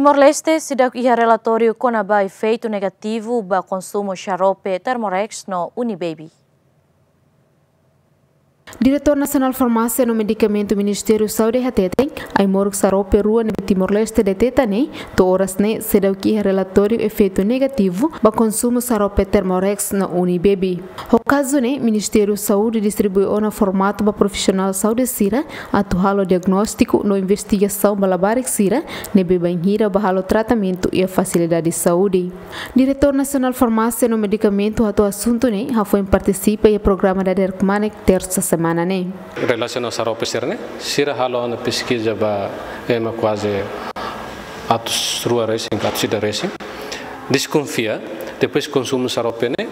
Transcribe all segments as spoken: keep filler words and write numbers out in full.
Timor-Leste seidauk iha relatóriu kona-ba efeitu negativu ba konsumu xarope Thermorex no Unibaby. Diretór Nasionál Farmásia no Medikamentu Ministériu Saúde hateten, ai-moruk xarope rua ne'ebé Timor-Leste deteta ne'e, to'o oras ne'e seidauk iha relatóriu efeitu negativu ba konsumu xarope Thermorex no Unibaby. Ho kazu ne'e, Ministériu Saúde distribui ona formatu ba profisionál saúde sira atu halo diagnóstiku no investigasaun ba labarik sira ne'ebé bainhira ba halo tratamentu iha fasilidade saúde. Diretór Nasionál Farmásia no Medikamentu hato'o asuntu ne'e hafoin partisipa iha programa dadeer kmanek tersa semana ne'e. Relasiona xarope sira-ne'e, sira halo ona peskiza ba ema kuaze atus rua resin, atus ida resin. Deskonfia, depois konsumu xarope ne'e,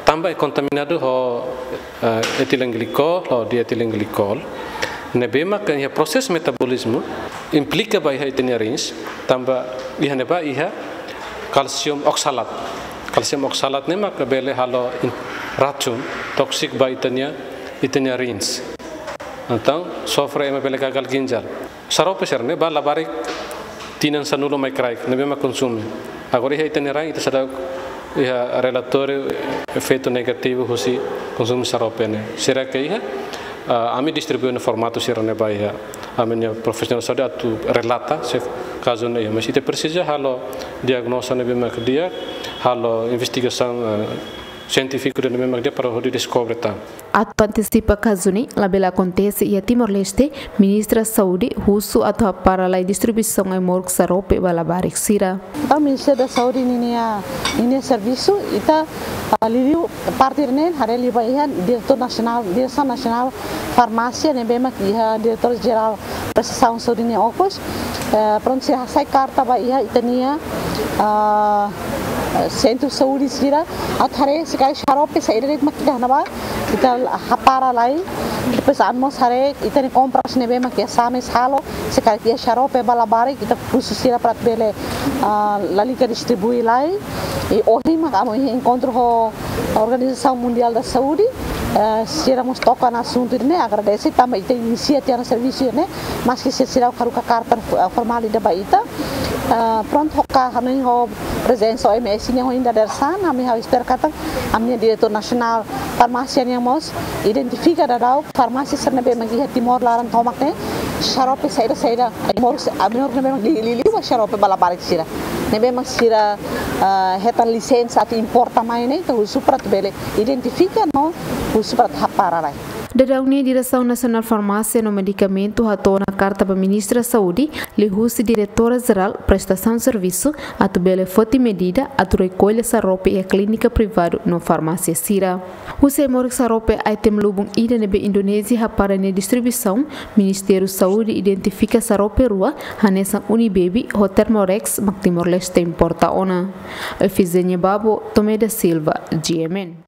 tanba kontaminadu ho, eh, etilenglikol, ho dietilenglikol. Ne'ebé mak iha prosesu metabolizmu, implika ba iha ita-nia rins, tanba iha ne'ebá iha kalsium oksalat. Kalsium oksalat ne'e mak bele halo in-, racun, tóksiku ba ita-nia, ita-nia rins. Entaun, sofre ema bele gagal ginjal. Xarope sira-ne'e ba labarik tinan sanulu mai kraik, ne'ebé mak konsume. Agora iha ita-nia rain, ita seidauk iha relatóriu efeitu negativu husi konsumu xarope ne'e. Será que iha? Ah, ami distribui ona formatu sira-ne'e ba iha ami-nia profisionál saúde atu relata se kazu ne'e iha. Mas ita presiza halo diagnóstiku ne'ebé mak di'ak, halo investigasaun, eh, sientífiku ne'ebé mak di'ak para hodi deskobre tan. Atu antesipa kazu ne'e labele akontese iha Timor-Leste, Ministra Saúde husu atu hapara lai distribuisaun ai-moruk xarope ba labarik sira. Entaun, Ministériu da Saúde ninia, ninia servisu, ita, ah, liuliu parte ne'e haree liu ba iha Diretór Nasionál, Diresaun Nasionál Farmásia, ne'ebé mak iha Diretór Jerál Prestasaun Saúde nia okos. Eh, prontu, sira hasai karta ba iha ita-nia, ah, sentru saúde sira, atu haree se karik xarope saida de'it mak ita iha ne'ebá, ita hapara lai. Depois ami mós haree ita-nia kompras ne'ebé mak iha Sames halo, se karik iha xarope ba labarik, ita husu sira para bele, ah, lalika distribui lai. I ohin mak ami iha enkontru ho Organizasaun Mundiál da Saúde, eh, sira mós toka ona asuntu ne'e, agradese tanba ita inisia tiha ona servisu ne'e, maski sira, sira haruka karta, eh, formál ida ba ita. Eh, prontu, hoka hanoin ho prezensa O M S nian ohin dadeer-saan, ami ha'u espera katak ami-nia Diretór Nasionál Farmásia nian mós identifika daudaun farmásia sira ne'ebé mak iha Timor laran tomak ne'e, xarope saida, saida ai-moruk, ai-moruk ne'ebé mak li-, li-, liu ba xarope ba labarik sira. Ne'ebé mak sira, ah, hetan lisensa atu importa mai ne'e, ita husu para atu bele identifika no husu para atu hapara lai. Daudaun ne'e Diresaun Nasionál Farmásia no Medikamentu hato'o ona karta ba Ministra Saúde, liuhusi Diretora Jerál Prestasaun Servisu, atu bele foti medida atu rekolla xarope iha klínika privadu no farmásia sira. Husi ai-moruk xarope item lubun ida ne'ebé Indonézia hapara nia distribuisaun, Ministériu Saúde identifika xarope rua, hanesan Unibaby ho Thermorex mak Timor-Leste importa ona. Efizenia Babo, Tomé da Silva, G M N.